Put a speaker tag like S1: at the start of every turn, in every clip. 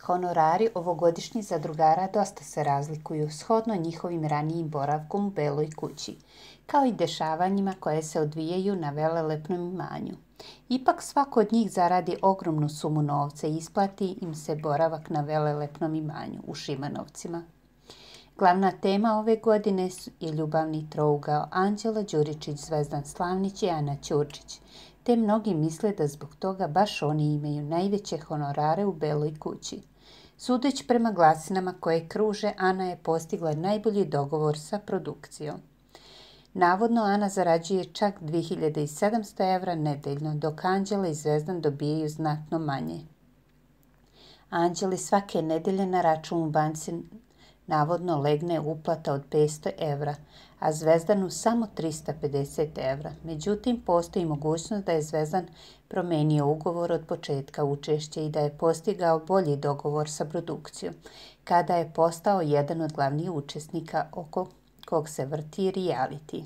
S1: Honorari ovogodišnjih zadrugara dosta se razlikuju shodno njihovim ranijim boravkom u Beloj kući, kao i dešavanjima koje se odvijaju na velelepnom imanju. Ipak svako od njih zaradi ogromnu sumu novca i isplati im se boravak na velelepnom imanju u Šimanovcima. Glavna tema ove godine je ljubavni trougao Anđela Đuričić, Zvezdan Slavnić i Ana Ćurčić, te mnogi misle da zbog toga baš oni imaju najveće honorare u Beloj kući. Sudeći prema glasinama koje kruže, Ana je postigla najbolji dogovor sa produkcijom. Navodno, Ana zarađuje čak 2700 evra nedeljno, dok Anđela i Zvezdan dobijaju znatno manje. Anđeli svake nedelje na račun u banci navodno legne uplata od 500 evra, a Zvezdanu samo 350 evra. Međutim, postoji mogućnost da je Zvezdan promenio ugovor od početka učešća i da je postigao bolji dogovor sa produkcijom, kada je postao jedan od glavnih učesnika oko kog se vrti reality.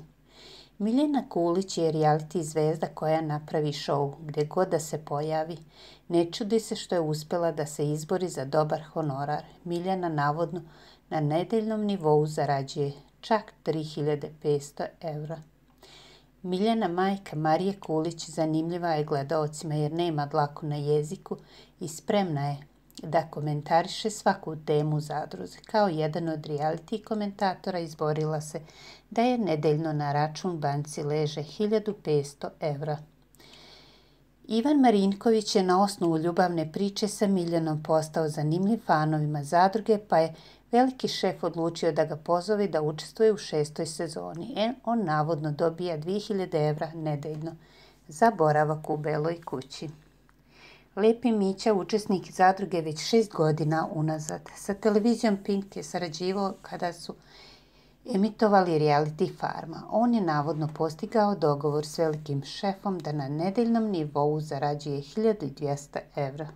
S1: Miljana Kulić je reality zvezda koja napravi show gdje god da se pojavi. Ne čudi se što je uspjela da se izbori za dobar honorar. Miljana navodno na nedeljnom nivou zarađuje čak 3500 evra. Miljana, majka Marije Kulić, zanimljiva je gledaocima jer nema dlaku na jeziku i spremna je da komentariše svaku temu u zadruzi. Kao jedan od reality komentatora izborila se da je nedeljno na račun banci leže 1500 evra. Ivan Marinković je na osnovu ljubavne priče sa Miljanom postao zanimljiv fanovima zadruge, pa je veliki šef odlučio da ga pozove da učestvuje u 6. sezoni. On navodno dobija 2000 evra nedeljno za boravak u Beloj kući. Lepi Mića, učesnik zadruge već 6 godina unazad. Sa televizijom Pink je sarađivao kada su emitovali reality Farma. On je navodno postigao dogovor s velikim šefom da na nedeljnom nivou zarađuje 1200 evra.